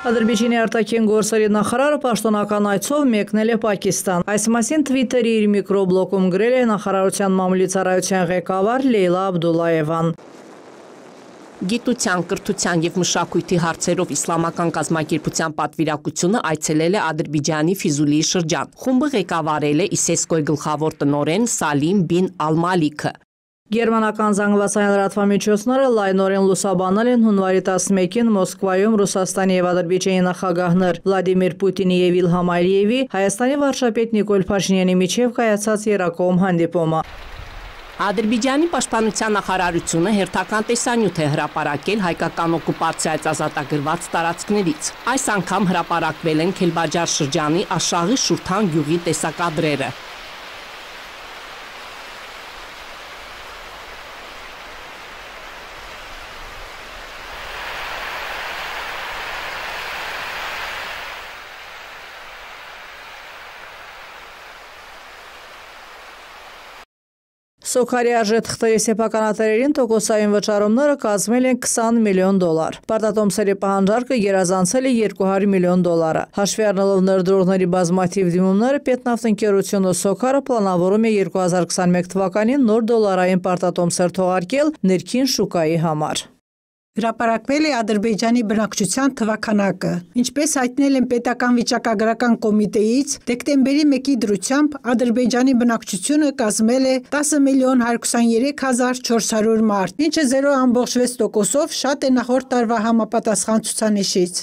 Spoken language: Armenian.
Ադրբեջանի արտաքին գործերի նախարարը պաշտոնական այցով մեկնել է Պակիստան։ Այս մասին Թվիտերի իր միկրոբլոգում գրել է նախարարության մամուլի ծառայության ղեկավար Լեյլա Աբդուլլաևան։ Գիտության, կրթության և մշակույթի հարցերով իսլամական կազմակերպության պատվիրակությունը այցելել է Ադրբեջանի Ֆիզուլիի շրջան։ Խումբը ղեկավարել է ISESCO-ի գլխավոր տնօրեն Սալիմ բին Ալ-Մալիքը։ Գերմանական զանգվածային լրատվամիջոցները լայնորեն լուսաբանել են հունվարի 11-ին Մոսկվայում Ռուսաստանի և Ադրբեջանի նախագահներ Վլադիմիր Պուտինի և Իլհամ Ալիևի Հայաստանի վարչապետ Նիկոլ Փաշինյանի միջև կայացած եռակողմ հանդիպումը։ Ադրբեջանի պաշտպանության նախարարությունը հերթական տեսանյութ է հրապարակել հայկական օկուպացիայից ազատագրված տարածքներից։ Այս անգամ հրապարակվել են Քելբաջար շրջանի Աշաղի Շուրթան գյուղի տեսակադրերը։ Սոքարի արժեթղթերի սեփականատերերին տոկոսային վճարումները կազմել են $20 միլիոն։ Պարտատոմսերի պահանջարկը գերազանցել է $200 միլիոն։ Հաշվի առնելով ներդրողների բազմաթիվ դիմումները, Պետնավթընկերությունը Սոքարը պլանավորում է 2021 թվականին նոր դոլարային պարտատոմսեր թողարկել ներքին շուկայի համար։ Հրապարակվել է Ադրբեջանի բնակչության թվաքանակը։ Ինչպես հայտնել են Պետական վիճակագրական կոմիտեից, դեկտեմբերի 1-ի դրությամբ Ադրբեջանի բնակչությունը կազմել է 10.123.400 մարդ, ինչը 0.6%-ով շատ է նախորդ տարվա համապատասխան ցուցանիշից։